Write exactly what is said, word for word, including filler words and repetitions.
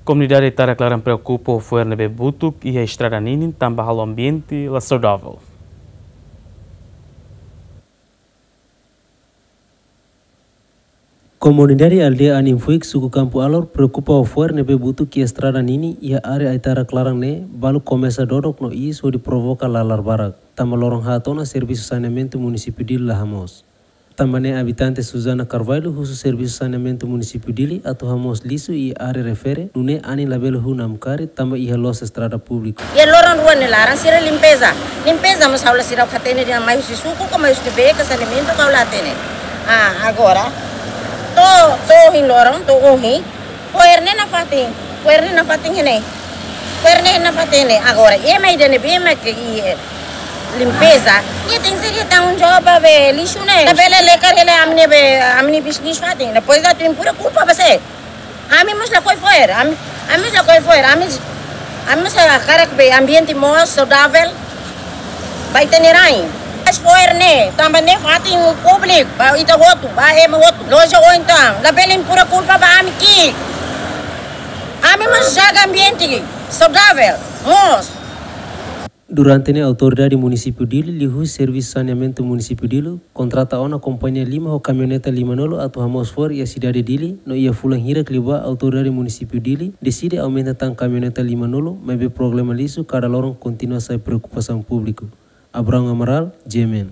Komunidade Aitarak Laran preokupa ho fo'er ne'ebé butuk iha estrada ninin tanba halo ambiente la saudavel. Komunidade aldeia Aninfuik, suku Kampu Alor, preokupa ho fo'er ne'ebé butuk iha estrada ninin iha área Aitarak Laran ne'e, balu komesa dodok no iis hodi provoka lalar barak, tanba loron haat ona servisu saneamentu munisípiu Dili la hamoos. Tanba ne'e abitante Suzana Carvalho husu servisu saneamentu munisípiu Dili atu hamoos lixu iha área refere, nune'e anin labele hun namkari tanba iha loos estrada públiku. Iha loron rua nia laran sira limpeza. Limpeza mós ha'u la, sira la hatene dehan mai husi suku ka mai husi ne'ebé ka saneamentu ka ha'u la hatene. Ah, agora. To'o, to'o ohin loron, to'o ohin. Fo'er ne'e nafatin, fo'er ne'e nafatin ne'e. Fo'er ne'e nafatin ne'e. Agora, ema ida ne'ebé mak iha, eh, limpeza, nia tenke ser iha tanggung jawab ba be lixu ne'e. Labele lekar hela ami-nia be, ami-nia bisnis fatin. Depois atu impura kulpa ba sé? Ami mós lakohi fo'er, ami, ami mós lakohi fo'er, ami, ami mós hakarak be ambiente mós saudavel. Ba ita-nia rain. Mas fo'er ne'e, tanba ne'e fatin públiku, ba ita hotu, ba ema hotu. Loja oin tan, labele impura kulpa ba ami ki'ik. Ami mós jaga ambiente saudavel, mós. Durante ne'e autoridade munisípiu Dili liuhusi servisu saneamentu munisípiu Dili kontrata ona kompañia lima ho kamioneta lima-nulu atu hamoos fo'er iha sidade Dili, no iha fulan hirak liubá autoridade munisípiu Dili deside aumenta tan kamioneta lima-nulu, maibé problema lixu kada loron kontinua sai preokupasaun públiku. Abraão Amaral, G M N.